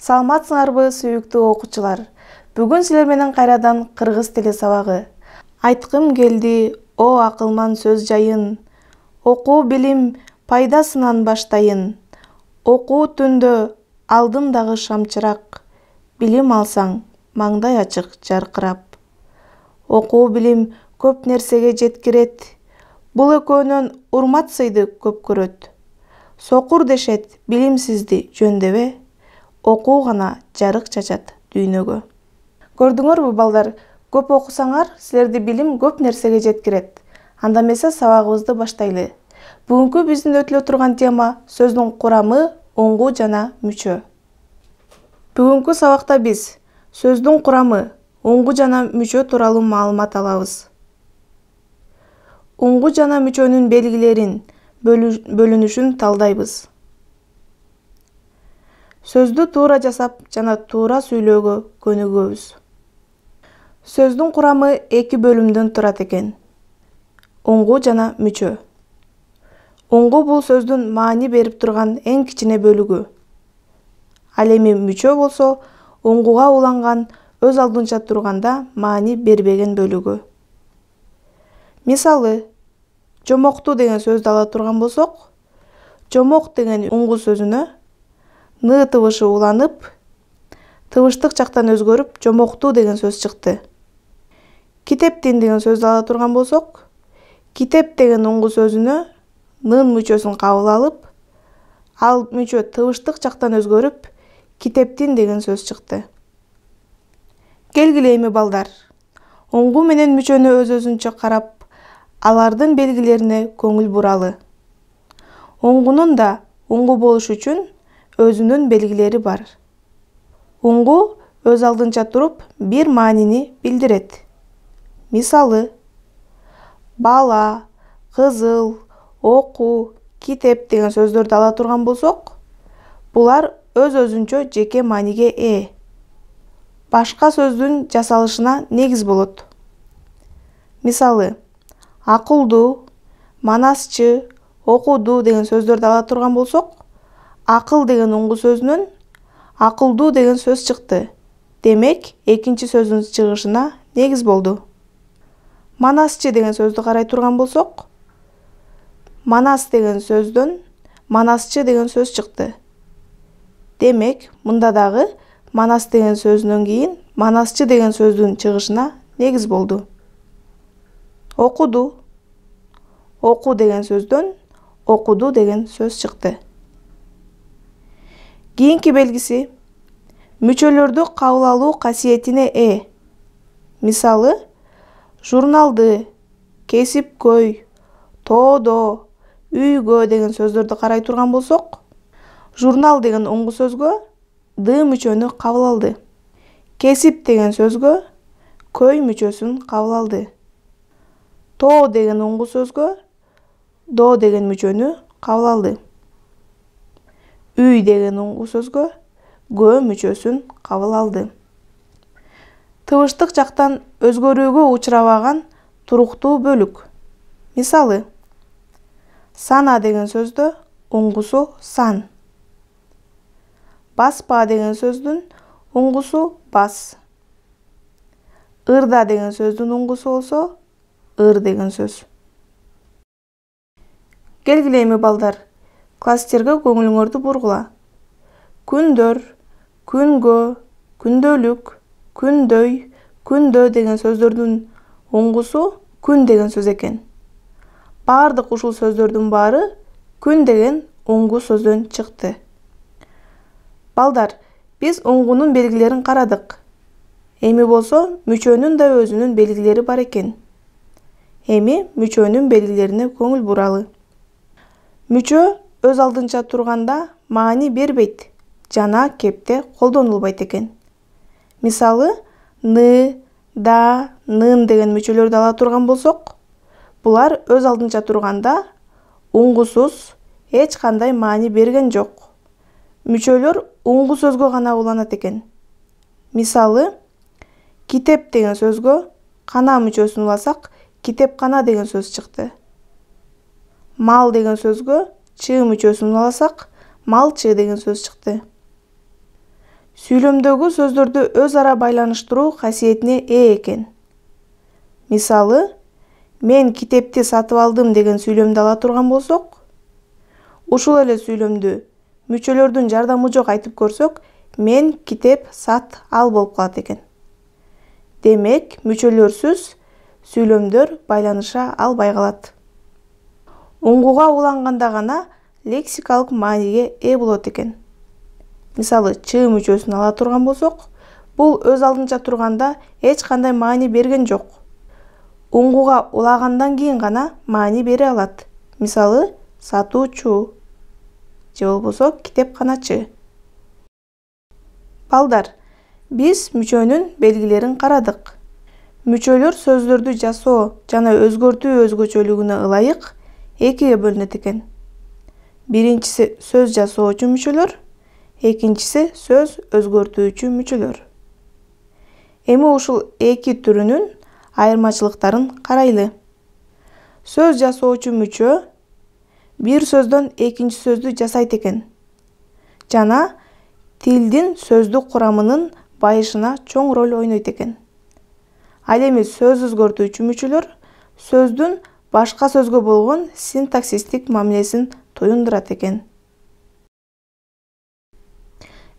Саламатсыңарбы сүйүктүү окуучулар? Бүгүн силер менен кайрадан кыргыз тили сабагы. Айткым келди, о акылман сөз жайын. Окуу билим пайдасынан баштайын. Окуу түндө алдым дагы шамчырак. Билим алсаң, маңдай ачык жаркырап. Окуу билим көп нерсеге жеткирет. Бул экөөнөн урмат сыйды көп көрөт. Сокур дешет билимсизди жөндебе. Окуу гана жарык чачат дүйнөгө. Көрдүңөрбү балдар, көп окусаңар, силерди билим көп нерсеге жеткирет. Анда эмесе сабагыбызды баштайлы. Бүгүнкү биздин өтүлө турган тема сөздүн курамы, оңгу жана мүчө. Бүгүнкү сабакта биз сөздүн курамы, оңгу жана мүчө тууралуу маалымат алабыз. Оңгу жана мүчөнүн белгилерин, бөлүнүшүн талдайбыз. Сөздү туура жасап жана туура сүйлөөгө көнүгөбүз. Сөздүн курамы 2 бөлүмдөн турат экен. Оңгу жана мүчө. Оңгу бул сөздүн маани берип турган эң кичине бөлүгү. Ал эми мүчө болсо, оңгуга уланган, өз алдынча турганда маани бербеген бөлүгү. Мисалы, жомокту деген сөздү ала турган болсок, жомок деген оңгу сөзүнө ны тыбышы уланып, тыбыштык жактан өзгөрүп, жомокту деген сөз чыкты. Китептин деген сөздү ала турган болсок, китеп деген оңгу сөзүнө нын мүчөсүн кабыл алып, ал мүчө тыбыштык жактан өзгөрүп, китептин деген сөз чыкты. Келгиле эми балдар, оңгу менен мүчөнү өз-өзүнчө карап, алардын белгилерине көңүл буралы. Оңгунун да оңгу болуш үчүн өзүнүн белгилери бар. Оңгу өз алдынча туруп бир маанини билдирет. Мисалы, бала, кызыл, окуу, китеп деген сөздөрдү ала турган болсок, булар өз-өзүнчө жеке мааниге ээ. Башка сөздүн жасалышына негиз болот. Мисалы, акылдуу, манасчы, окуду деген сөздөрдү ала турган болсок, акыл деген оңгу сөзүнөн акылдуу деген сөз чыкты. Демек, экинчи сөздүн чыгышына негиз болду. Манасчы деген сөздү карай турган болсок, манас деген сөздөн манасчы деген сөз чыкты. Демек, мында дагы манас деген сөзүнөн кийин манасчы деген сөздүн чыгышына негиз болду. Окуду. Оку деген сөздөн окуду деген сөз чыкты. Кийинки белгиси мүчөлөрдү кабыл алуу касиетине ээ. Мисалы, журналды, кесипкөй, тоодо, үйгө деген сөздөрдү карай турган болсок, журнал деген оңгу сөзгө ды мүчөнү кабыл алды. Кесип деген сөзгө көй мүчөсүн кабыл алды. Тоо деген оңгу сөзгө до деген мүчөнү кабыл алды. Үй деген оңгу сөзгө гө мүчөсүн кабыл алды. Тыбыштык жактан өзгөрүүгө учурабаган туруктуу бөлүк. Мисалы, сана деген сөздө оңгусу сан. Баспа деген сөздүн оңгусу бас. Ырда деген сөздүн оңгусу болсо ыр деген сөз. Келгиле эми балдар, класстерге көңүлүңөрдү бургула. Күндөр, күнгө, күндөлүк, күндөй, күндө деген сөздөрдүн оңгусу күн деген сөз экен. Баардык ушул сөздөрдүн баары күн деген оңгу сөздөн чыкты. Балдар, биз оңгунун белгилерин карадык. Эми болсо мүчөнүн да өзүнүн белгилери бар экен. Эми мүчөнүн белгилерине көңүл буралы. Мүчө өз алдынча турганда маани бербейт жана кепте колдонулбайт экен. Мисалы, ны, да, нын деген мүчөлөрдү ала турган болсок, булар өз алдынча турганда оңгусуз, эч кандай маани берген жок. Мүчөлөр оңгу сөзгө гана уланат экен. Мисалы, китеп деген сөзгө кана мүчөсүн уласак, китепкана деген сөз чыкты. Мал деген сөзгө чы мүчөсүн уласак, малчы деген сөз чыкты. Сүйлөмдөгү сөздөрдү өз ара байланыштыруу касиетине ээ экен. Мисалы, мен китепти сатып алдым деген сүйлөмдү ала турган болсок, ушул эле сүйлөмдү мүчөлөрдүн жардамы жок айтып көрсөк, мен китеп сат ал болуп калат экен. Демек, мүчөлөрсүз сүйлөмдөр байланыша албай калат. Уңгуга уланганда гана лексикалык мааниге ээ болот экен. Мисалы, ч мүчөсүн ала турган болсок, бул өз алдынча турганда эч кандай маани берген жок. Уңгуга улагандан кийин гана маани бере алат. Мисалы, сатуучу же болбосо китепканачы. Балдар, биз мүчөнүн белгилерин карадык. Мүчөлөр сөздөрдү жасоо жана өзгөртүү өзгөчөлүгүнө ылайык экиге бөлүнөт экен. Биринчиси сөз жасоочу мүчөлөр, экинчиси сөз өзгөртүүчү мүчөлөр. Эми ушул эки түрүнүн айырмачылыктарын карайлы. Сөз жасоочу мүчө бир сөздөн экинчи сөздү жасайт экен жана тилдин сөздүк курамынын байышына чоң роль ойнойт экен. Ал эми сөз өзгөртүүчү мүчөлөр сөздүн башка сөзгө болгон синтаксистик мамилесин туюндурат экен.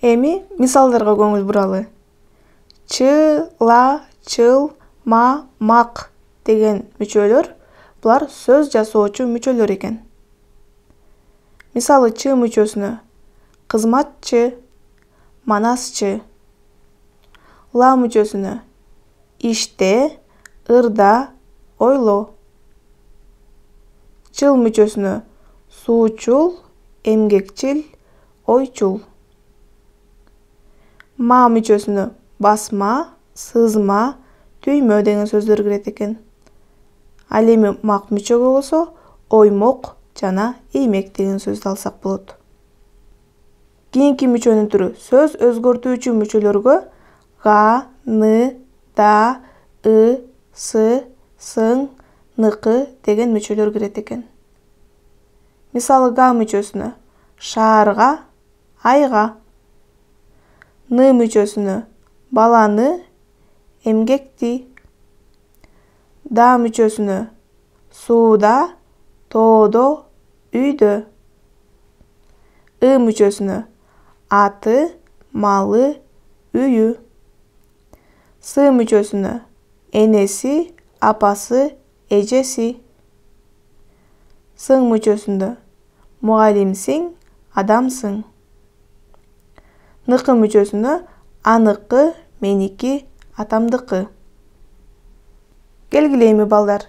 Эми мисалдарга көңүл буралы. Ч, ла, чыл, ма, мак деген мүчөлөр булар сөз жасоочу мүчөлөр экен. Мисалы, ч мүчөсүнө кызматчы, манасчы. Ла мүчөсүнө иште, ырда, ойло. Чыл мүчөсүнө суучул, эмгекчил, ойчул. Ма мүчөсүнө басма, сызма, түймө деген сөздөр кирет экен. Ал эми мак мүчөгө болсо оймок жана иймек деген сөздү алсак болот. Кийинки мүчөнүн түрү сөз өзгөртүүчү мүчөлөргө га, ны, да, ы, сы, сың, ныкы деген мүчөлөр кирет экен. Мисалы, га мүчөсүнө шаарга, айга. Ны мүчөсүнө баланы, эмгекти. Да мүчөсүнө сууда, тоодо, үйдө. И мүчөсүнө аты, малы, үйү. Сы мүчөсүнө энеси, апасы, эжеси. Сың мүчөсүндө мугалимсиң, адамсың. Ныкы мүчөсүнө аныкы, меники, атамдыкы. Келгиле эми балдар,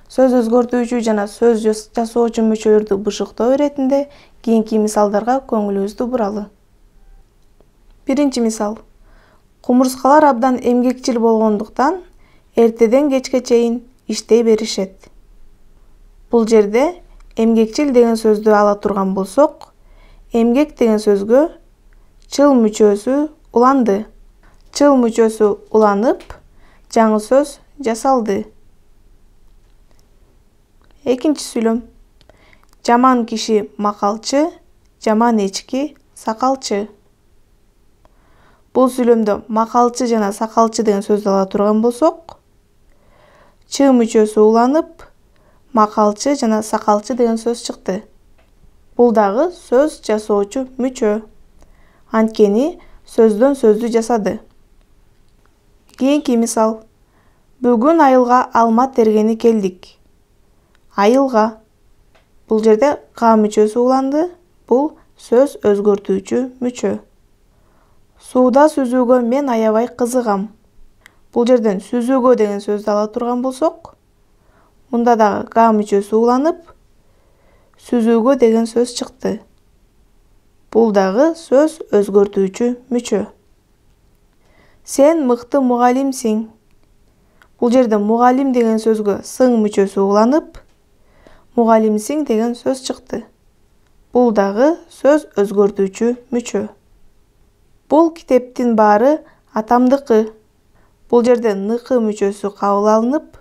сөз өзгөртүүчү жана сөз жасоочу мүчөлөрдү бышыктоо иретинде кийинки мисалдарга көңүлүбүздү буралы. Биринчи мисал. Кумурскалар абдан эмгекчил болгондуктан эртеден кечке чейин иштей беришет. Бул жерде эмгекчил деген сөздү ала турган болсок, эмгек деген сөзгө чыл мүчөсү уланды. Чыл мүчөсү уланып, жаңы сөз жасалды. Экинчи сүйлөм. Жаман киши макалчы, жаман эчки сакалчы. Бул сүйлөмдө макалчы жана сакалчы деген сөздү ала турган болсок, ч мүчөсү уланып, макалчы жана сакалчы деген сөз чыкты. Бул дагы сөз жасоочу мүчө. Анткени сөздөн сөздү жасады. Кийинки мисал. Бүгүн айылга алма тергени келдик. Айылга. Бул жерде га мүчөсү уланды. Бул сөз өзгөртүүчү мүчө. Сууда сүзүүгө мен аябай кызыгам. Бул жерден сүзүүгө деген сөздү ала турган болсок, мында дагы га мүчөсү уланып, сүзүүгө деген сөз чыкты. Бул дагы сөз өзгөртүүчү мүчө. Сен мыкты мугалимсиң. Бул жерде мугалим деген сөзгө сың мүчөсү уланып, мугалимсиң деген сөз чыкты. Бул дагы сөз өзгөртүүчү мүчө. Бул китептин баары атамдыкы. Бул жерде ныкы мүчөсү кабыл алынып,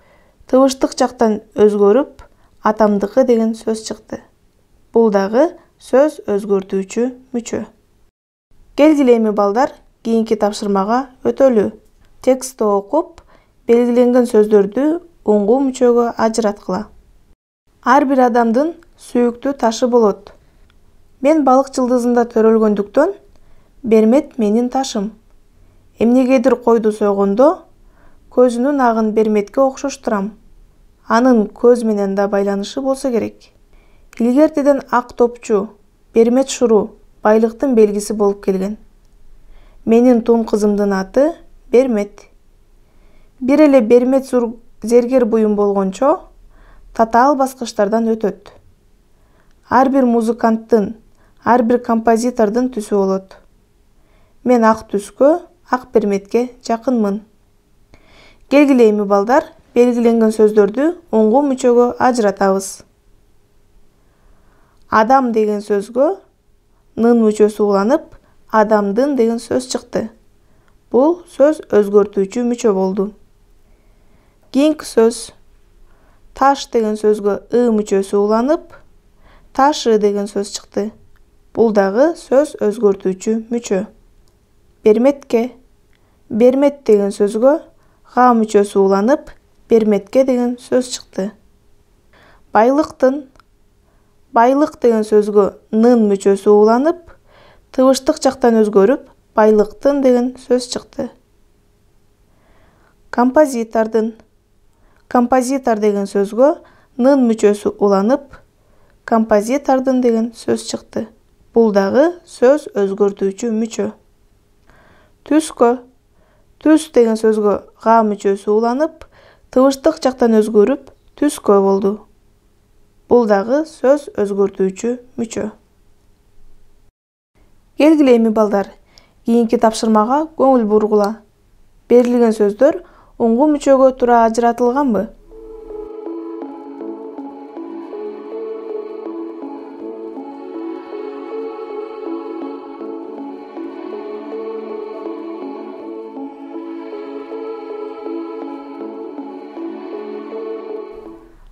тыбыштык жактан өзгөрүп, атамдыкы деген сөз чыкты. Бул дагы сөз өзгөртүүчү мүчө. Келгиле эми балдар, кийинки тапшырмага өтөлү. Текстти окуп, белгиленген сөздөрдү уңгу мүчөгө ажыраткыла. Ар бир адамдын сүйүктүү ташы болот. Мен балык жылдызында төрөлгөндүктөн, Бермет менин ташым. Эмнегедир койду сойгондо, көзүнүн агын Берметке окшоштурам. Анын көз менен да байланышы болсо керек. Илгертеден ак топчу, Бермет шуру байлыктын белгиси болуп келген. Менин тун кызымдын аты Бермет. Бир эле Бермет зергер буюм болгончо, татаал баскычтардан өтөт. Ар бир музыканттын, ар бир композитордун түсү болот. Мен ак түскө, ак Берметке жакынмын. Келгиле эми балдар, белгиленген сөздөрдү уңгу мүчөгө ажыратабыз. Адам деген сөзгө нын мүчөсү уланып, адамдын деген сөз чыкты. Бул сөз өзгөртүүчү мүчө болду. Кийинки сөз таш деген сөзгө ы мүчөсү уланып, ташы деген сөз чыкты. Бул дагы сөз өзгөртүүчү мүчө. Берметке, Бермет деген сөзгө га мүчөсү уланып, Берметке деген сөз чыкты. Байлыктын, байлык деген сөзгө нын мүчөсү уланып, тыбыштык жактан өзгөрүп, байлыктын деген сөз чыкты. Композитордун, композитор деген сөзгө нын мүчөсү уланып, композитордун деген сөз чыкты. Бул дагы сөз өзгөртүүчү мүчө. Түскө, түс деген сөзгө га мүчөсү уланып, тыбыштык жактан өзгөрүп, түскө болду. Бул дагы сөз өзгөртүүчү мүчө. Келгиле эми балдар, кийинки тапшырмага көңүл бургула. Берилген сөздөр уңгу мүчөгө туура ажыратылганбы?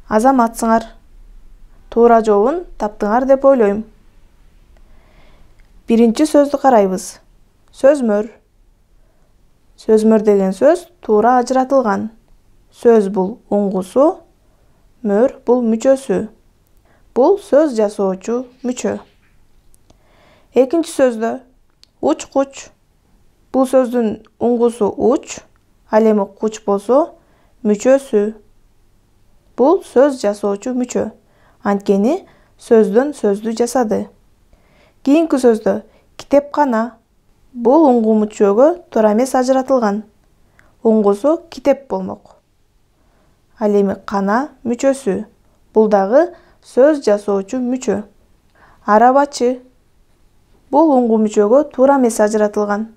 Азаматсыңар. Туура жообун таптыңар деп ойлойм. Биринчи сөздү карайбыз. Сөзмөр. Сөзмөр деген сөз туура ажыратылган. Сөз бул уңгусу, мөр бул мүчөсү. Бул сөз жасоочу мүчө. Экинчи сөздө уч-куч. Бул сөздүн уңгусу уч, ал эми куч болсо мүчөсү. Бул сөз жасоочу мүчө. Анткени сөздөн сөздү жасады. Кийинки сөздө китепкана. Бул уңгу мүчөгө туура эмес ажыратылган. Уңгусу китеп болмок. Ал эми кана мүчөсү. Бул дагы сөз жасоочу мүчө. Арабачы. Бул уңгу мүчөгө туура эмес ажыратылган.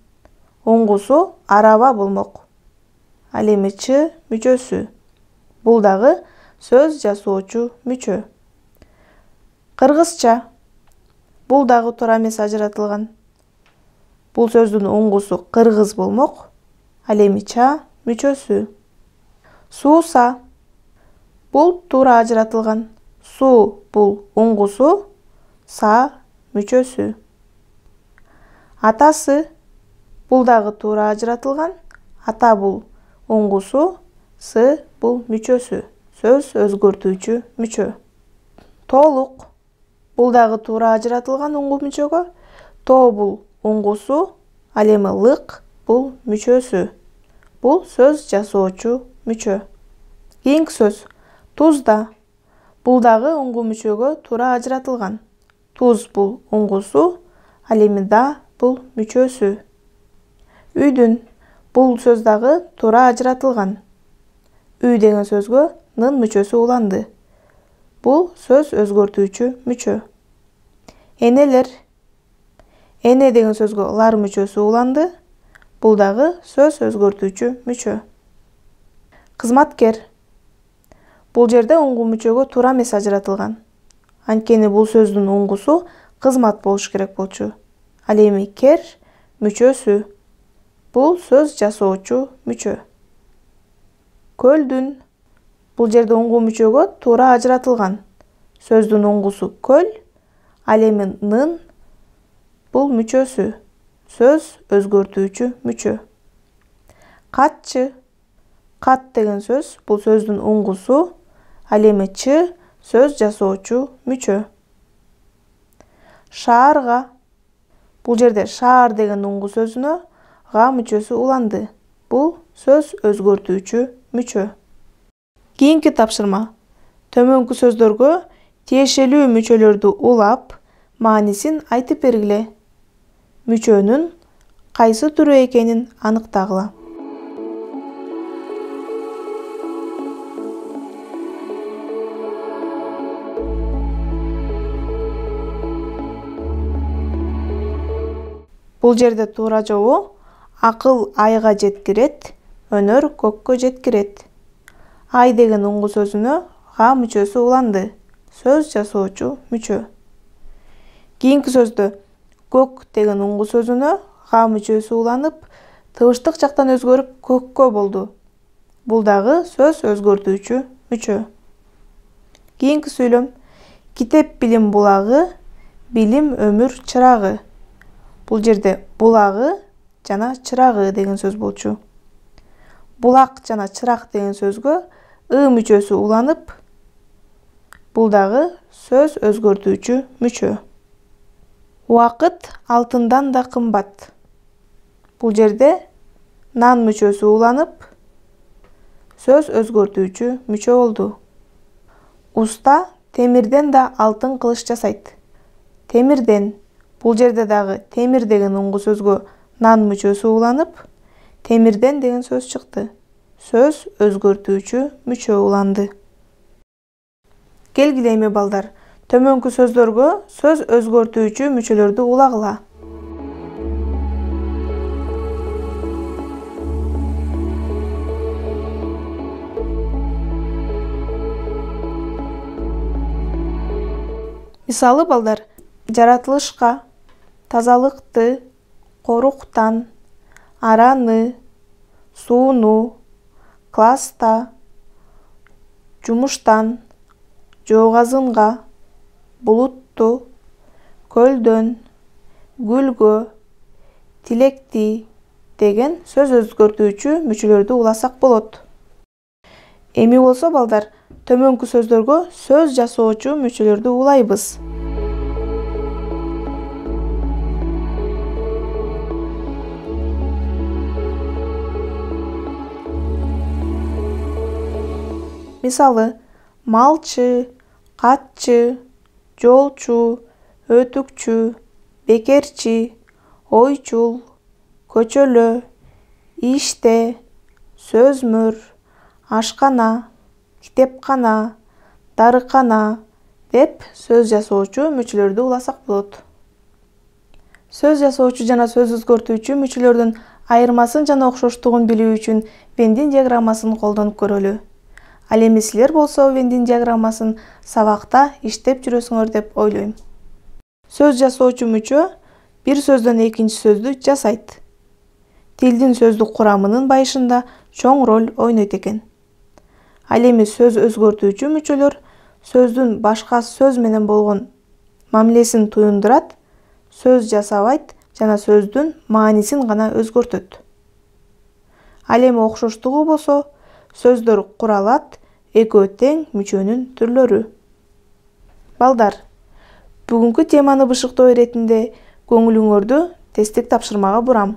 Уңгусу араба болмок. Ал эми чы мүчөсү. Бул дагы сөз жасоочу мүчө. Кыргызча. Бул дагы туура эмес ажыратылган. Бул сөздүн уңгусу кыргыз болмок. Ал эми ча мүчөсү. Сууса. Бул туура ажыратылган. Суу бул уңгусу, са мүчөсү. Атасы. Бул дагы туура ажыратылган. Ата бул уңгусу, сы бул мүчөсү. Сөз өзгөртүүчү мүчө. Тоолук. Бул дагы туура ажыратылган уңгу мүчөгө. Тоо бул уңгусу, ал эми лык бул мүчөсү. Бул сөз жасоочу мүчө. Кийинки сөз тузда. Бул дагы уңгу мүчөгө туура ажыратылган. Туз бул уңгусу, ал эми да бул мүчөсү. Үйдүн. Бул сөз дагы туура ажыратылган. Үй деген сөзгө нын мүчөсү уланды. Бул сөз өзгөртүүчү мүчө. Энелер. Эне деген сөзгө лар мүчөсү уланды. Бул дагы сөз өзгөртүүчү мүчө. Кызматкер. Бул жерде уңгу мүчөгө туура эмес ажыратылган. Анткени бул сөздүн уңгусу кызмат болуш керек болчу. Ал эми кер мүчөсү. Бул сөз жасоочу мүчө. Көлдүн. Бул жерде уңгу мүчөгө туура ажыратылган. Сөздүн уңгусу көл, ал эми нын бул мүчөсү. сөз өзгөртүүчү мүчө. Катчы. Кат деген сөз бул сөздүн уңгусу, ал эми чы сөз жасоочу мүчө. Шаарга. Бул жерде шаар деген уңгу сөзүнө га мүчөсү уланды. Бул сөз өзгөртүүчү мүчө. Кийинки тапшырма. Төмөнкү сөздөргө тиешелүү мүчөлөрдү улап, маанисин айтып бергиле. Мүчөнүн кайсы түрү экенин аныктагыла. Бул жерде туура жообу акыл айга жеткирет, өнөр көккө жеткирет. Ай деген уңгу сөзүнө га мүчөсү уланды. Сөз жасоочу мүчө. Кийинки сөздө көк деген уңгу сөзүнө га мүчөсү уланып, тыбыштык жактан өзгөрүп көккө болду. Бул дагы сөз өзгөртүүчү мүчө. Кийинки сүйлөм. Китеп билим булагы, билим өмүр чырагы. Бул жерде булагы жана чырагы деген сөз болчу. Булак жана чырак деген сөзгө мүчөсү уланып, бул дагы сөз өзгөртүүчү мүчө. Убакыт алтындан да кымбат. Бул жерде нан мүчөсү уланып, сөз өзгөртүүчү мүчө болду. Уста темирден да алтын кылыч жасайт. Темирден. Бул жерде дагы темир деген уңгу сөзгө нан мүчөсү уланып, темирден деген сөз чыкты. Сөз өзгөртүүчү мүчө уланды. Келгиле эми балдар, төмөнкү сөздөргө сөз өзгөртүүчү мүчөлөрдү улагыла. Мисалы балдар, жаратылышка, тазалыкты, коруктан, араны, сууну, класста, жумуштан, жоогазынга, булутту, көлдөн, гүлгө, тилекти деген сөз өзгөртүүчү мүчөлөрдү уласак болот. Эми болсо балдар, төмөнкү сөздөргө сөз жасоочу мүчөлөрдү улайбыз. Мисалы, малчы, катчы, жолчу, өтүкчү, бекерчи, ойчул, көчөлө, иште, сөзмөр, ашкана, китепкана, дарыкана деп сөз жасоочу мүчөлөрдү уласак болот. Сөз жасоочу жана сөз өзгөртүүчү мүчөлөрдүн айырмасын жана окшоштугун билүү үчүн Вендин диаграммасын колдонуп көрөлү. Ал эми силер болсо Вендин диаграммасын сабакта иштеп жүрөсүңөр деп ойлойм. Сөз жасоочу мүчө бир сөздөн экинчи сөздү жасайт. Тилдин сөздүк курамынын байышында чоң роль ойнойт экен. Ал эми сөз өзгөртүүчү мүчөлөр сөздүн башка сөз менен болгон мамилесин туюндурат, сөз жасабайт жана сөздүн маанисин гана өзгөртөт. Ал эми окшоштугу болсо сөздөр куралат, экөө тең мүчөнүн түрлөрү. Балдар, бүгүнкү теманы бышыктоо иретинде көңүлүңөрдү тесттик тапшырмага бурам.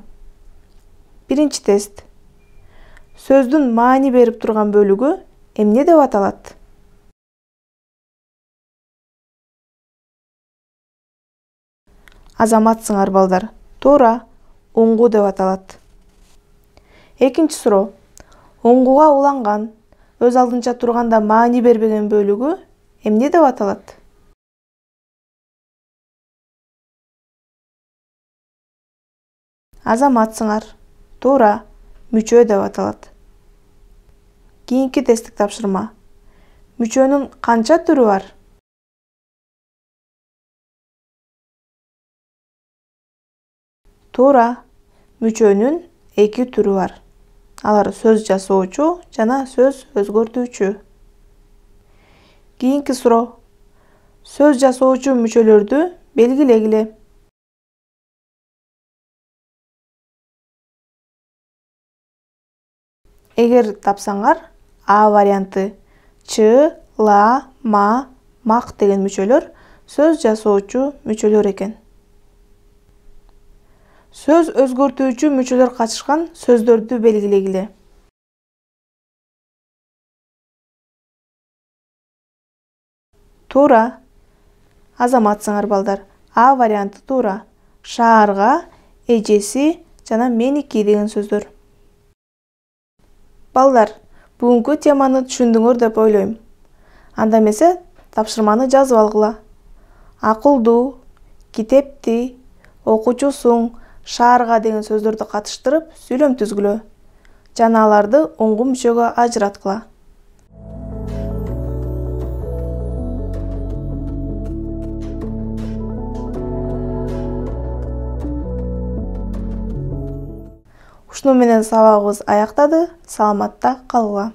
Биринчи тест. Сөздүн маани берип турган бөлүгү эмне деп аталат? Азаматсыңар балдар. Туура, уңгу деп аталат. Экинчи суроо. Уңгуга уланган, өз алдынча турганда маани бербеген бөлүгү эмне деп аталат? Азаматсыңар. Туура, мүчө деп аталат. Кийинки тесттик тапшырма. Мүчөнүн канча түрү бар? Туура, мүчөнүн 2 түрү бар. Алар сөз жасоочу жана сөз өзгөртүүчү. Кийинки суроо. Сөз жасоочу мүчөлөрдү белгилегиле. Эгер тапсаңар, А варианты ч, ла, ма, мак деген мүчөлөр сөз жасоочу мүчөлөр экен. Сөз өзгөртүүчү мүчөлөр катышкан сөздөрдү белгилегиле. Туура. Азаматсыңар балдар. А варианты туура. Шаарга, эжеси жана меники деген сөздөр. Балдар, бүгүнкү теманы түшүндүңөр деп ойлойм. Анда эмесе тапшырманы жазып алгыла. Акылдуу, китепти, окуучусуң, шаарга деген сөздөрдү катыштырып сүйлөм түзгүлө жана аларды оңгу мүчөгө ажыраткыла. Ушуну менен сабагыбыз аяктады. Саламатта калгыла.